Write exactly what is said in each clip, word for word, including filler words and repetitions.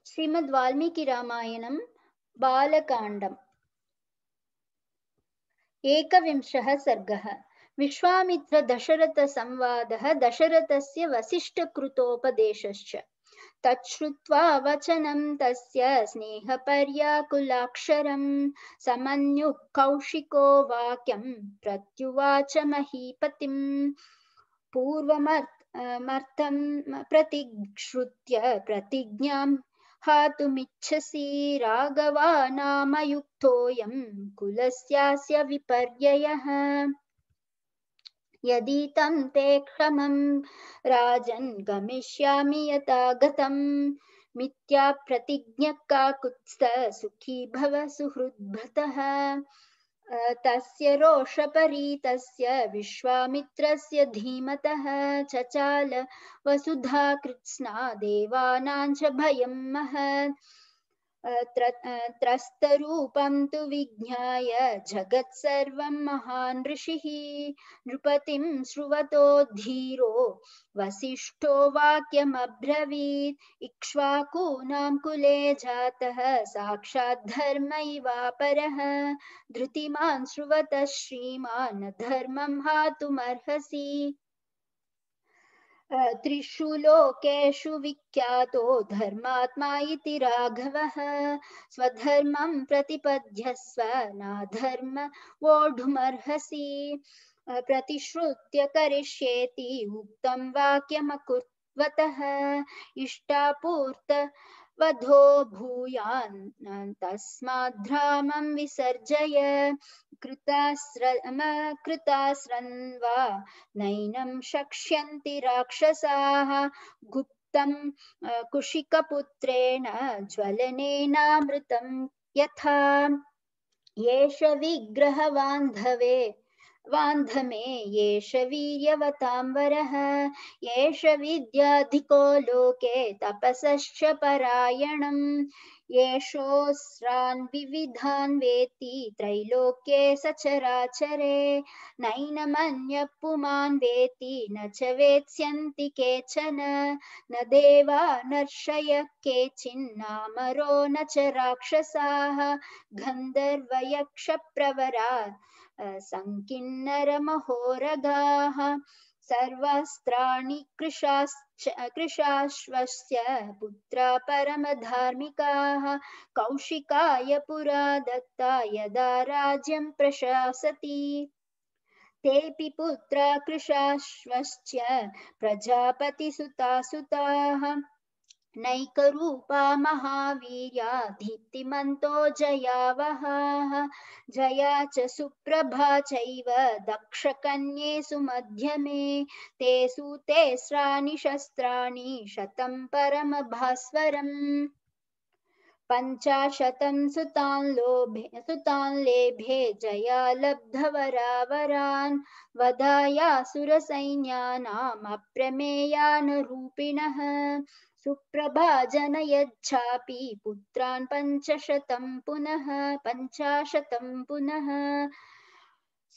श्रीमद् वाल्मीकि रामायणं बालकाण्डम् एकविंशः सर्गः। विश्वामित्र दशरथ संवादः दशरथस्य वसिष्ठकृतोपदेशश्च। तच्छ्रुत्वा वचनं तस्य स्नेहपर्याकुलाक्षरं समन्युः कौशिको वाक्यं प्रत्युवाच महीपतिम्। पूर्वमर्थं प्रतिश्रुत्य प्रतिज्ञां हातुमिच्छसि राघवा नामयुक्तोऽयं कुलस्यास्य विपर्ययः। यदि तं ते क्षमं राजन् गमिष्यामि यथा गतं। मिथ्या प्रतिज्ञः काकुत्स्थ सुखी भव सुहृद्भृतः। तस्य रोषपरीतस्य विश्वामित्रस्य धीमतः चचाल वसुधा कृत्स्ना देवानां च भयं महत्। त्रस्तरूपं तु विज्ञाय जगत्सर्वं महान् ऋषिः। नृपतिं श्रुवतो धीरो वसिष्ठो वाक्यमब्रवीत्। इक्ष्वाकूनां कुले जातः साक्षात् धर्मैवापरः। धृतिमान् श्रुवतः श्रीमान् धर्मं हातुमर्हसि। त्रिषु लोकेषु विख्यातो धर्मात्मा इति राघवः। स्वधर्मं प्रतिपद्यस्व नाधर्म वोढुमर्हसि। प्रतिश्रुत्य करिष्येति उक्तं वाक्यमकुर्वतः। इष्टापूर्त वधो भूयान् तस्माद्रामं विसर्जय। कृतास्रन्वा नैनं शक्ष्यन्ति राक्षसाः। गुप्तं कुशिकपुत्रेण ज्वलनेनामृतं यथा। येष विग्रहवान्धवे वान्धमे येष वीर्यवतां वरः। येष विद्याधिको लोके तपसश्च परायणम्। येषोऽस्रान् विविधान् वेत्ति त्रैलोक्ये सचराचरे। नैनमन्यः पुमान् वेत्ति न च वेत्स्यन्ति केचन। न देवा नर्षयः केचिन्नामरो न च राक्षसाः। गन्धर्वयक्षप्रवरा संकिन्नरमहोरगाः। सर्वास्त्राणि कृशाश्वस्य पुत्रा परमधार्मिकाः। कौशिकाय पुरा दत्ता यदा राज्यं प्रशासति। तेऽपि पुत्रा कृशाश्वश्च प्रजापतिसुतासुताः। नैकरूपा महावीर्या दीप्तिमन्तो जयावहाः। जया च सुप्रभा चैव दक्षकन्ये सुमध्यमे। ते सूतेस्राणि शस्त्राणि शतं परमभास्वरम्। पञ्चाशतं सुतान् लोभे सुतान् लेभे जया लब्धवरावरान्। वधायासुरसैन्यानाम् अप्रमेयानरूपिणः। सुप्रभा जनयच्छापि पुत्रान् पञ्चशतं पुनः पञ्चाशतं पुनः।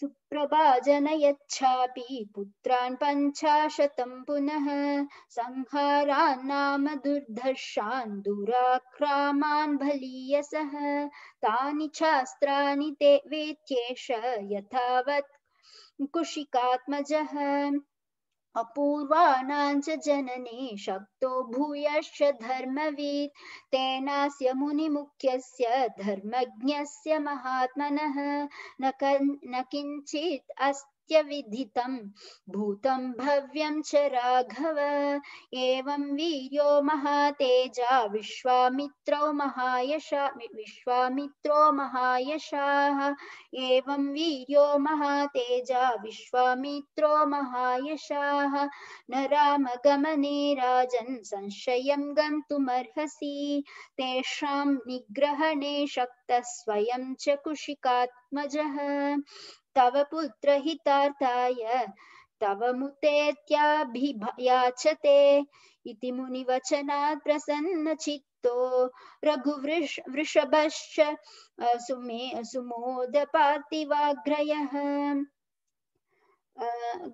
सुप्रभा जनयच्छापि पुत्रान् पञ्चाशतं पुनः। संहारान् नाम दुर्धर्षान् दुराक्रामान् बलीयसः। तानि चास्त्राणि ते वेत्येष यथावत् कुशिकात्मजः। अपूर्वाणां च जनने शक्तो भूयश्च धर्मवित्। तेनास्य मुनिमुख्यस्य धर्मज्ञस्य महात्मनः। न किञ्चित् अस्त्यविदितं भूतं भव्यं च राघव। एवं वीर्यो महातेजा विश्वामित्रो महायशा विश्वामित्रो महायशाः। एवं वीर्यो महातेजा विश्वामित्रो महायशाः। न रामगमने राजन् संशयं गन्तुमर्हसि। तेषां निग्रहणे शक्तः स्वयं च कुशिकात्मजः। तव पुत्रहितार्थाय तव मुतेत्याभियाचते। इति मुनिवचनात् प्रसन्नचित्तो रघुवृष वृषभश्च सुमे सुमोदपार्थिवाग्रयः।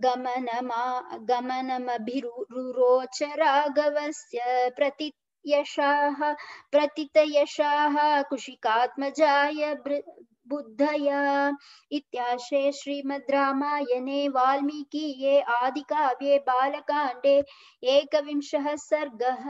गमनमा गमनमभिरुरोच राघवस्य प्रति यशाः प्रतितयशाः कुशिकात्मजाय बुद्धया। इत्याशे श्रीमद् रामायणे वाल्मीकिये आदिकाव्ये बालकाण्डे एकविंशः सर्गः।